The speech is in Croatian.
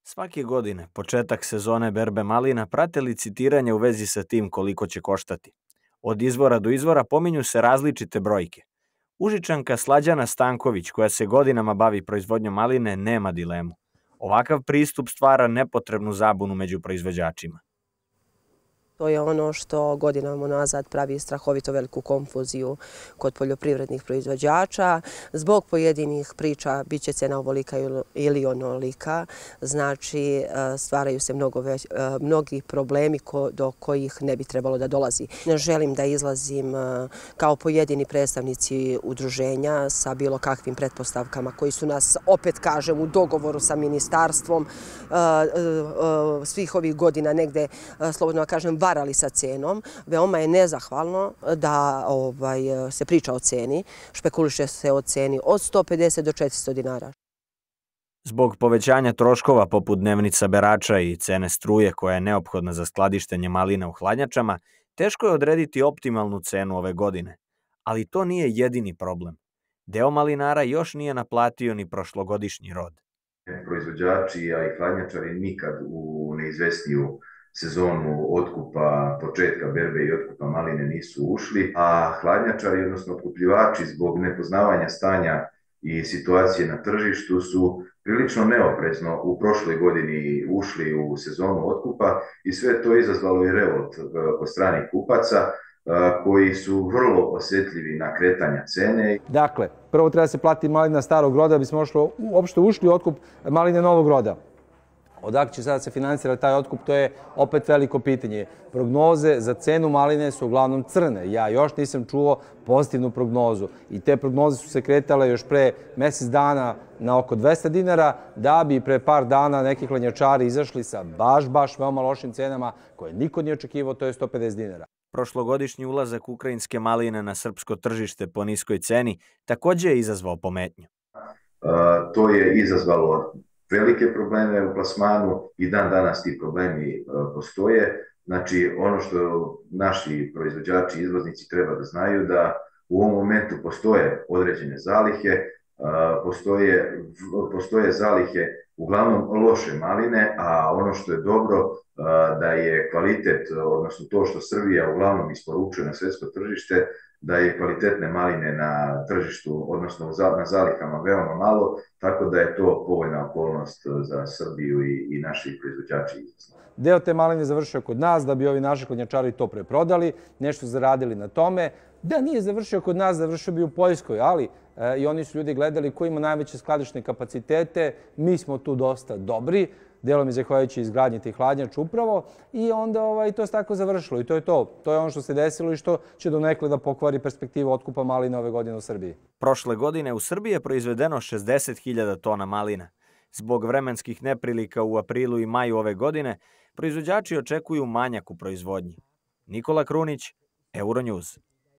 Svake godine, početak sezone berbe malina prate licitiranje u vezi sa tim koliko će koštati. Od izvora do izvora pominju se različite brojke. Užičanka Slađana Stanković, koja se godinama bavi proizvodnjom maline, nema dilemu. Ovakav pristup stvara nepotrebnu zabunu među proizvođačima. To je ono što godinama unazad pravi strahovito veliku konfuziju kod poljoprivrednih proizvođača. Zbog pojedinih priča bit će cena ovolika ili onolika, znači stvaraju se mnogi problemi do kojih ne bi trebalo da dolazi. Ne želim da izlazim kao pojedini predstavnici udruženja sa bilo kakvim pretpostavkama koji su nas, opet kažem, u dogovoru sa ministarstvom svih ovih godina negde, slobodno kažem, varali sa cenom. Veoma je nezahvalno da se priča o ceni, špekuliše se o ceni od 150 do 400 dinara. Zbog povećanja troškova poput dnevnica berača i cene struje koja je neophodna za skladištenje malina u hladnjačama, teško je odrediti optimalnu cenu ove godine. Ali to nije jedini problem. Deo malinara još nije naplatio ni prošlogodišnji rod. Proizvođači, a i hladnjačari nikad u neizvesniju sezonu otkupa, početka berbe i otkupa maline nisu ušli, a hladnjačari, odnosno otkupljivači, zbog nepoznavanja stanja i situacije na tržištu su prilično neoprezno u prošloj godini ušli u sezonu otkupa i sve to izazvalo i revolt kod stranih kupaca koji su vrlo osjetljivi na kretanja cene. Dakle, prvo treba se platiti malina starog roda da bismo uopšte ušli u otkup maline novog roda. Odakle će sada se financirati taj otkup, to je opet veliko pitanje. Prognoze za cenu maline su uglavnom crne. Ja još nisam čuo pozitivnu prognozu i te prognoze su se kretale još pre mjesec dana na oko 200 dinara, da bi pre par dana neki hladnjačari izašli sa baš veoma lošim cenama koje niko nije očekivao, to je 150 dinara. Prošlogodišnji ulazak ukrajinske maline na srpsko tržište po niskoj ceni također je izazvao pometnju. To je izazvalo velike probleme u plasmanu i dan danas ti problemi postoje. Znači, ono što naši proizvođači i izvoznici treba da znaju da u ovom momentu postoje određene zalihe, postoje zalihe uglavnom loše maline, a ono što je dobro da je kvalitet, odnosno to što Srbija uglavnom isporučuje na svjetsko tržište, da je kvalitetne maline na tržištu, odnosno na zalihama veoma malo, tako da je to povoljna okolnost za Srbiju i naši proizvođači izvoznici. Deo te maline završio kod nas da bi ovi naši hladnjačari to preprodali, nešto zaradili na tome. Da nije završio kod nas, završio bi u Poljskoj, ali i oni su ljudi gledali ko ima najveće skladišne kapacitete. Mi smo tu dosta dobri, delom je zahvaljujući izgradnji tih hladnjača upravo, i onda to se tako završilo i to je to. To je ono što se desilo i što će donekle da pokvari perspektivu otkupa malina ove godine u Srbiji. Prošle godine u Srbiji je proizvedeno 60.000 tona malina. Zbog vremenskih neprilika u aprilu i maju ove godine, proizvođači očekuju manjak u proizvodnji. Nikola Krunić, Euronews.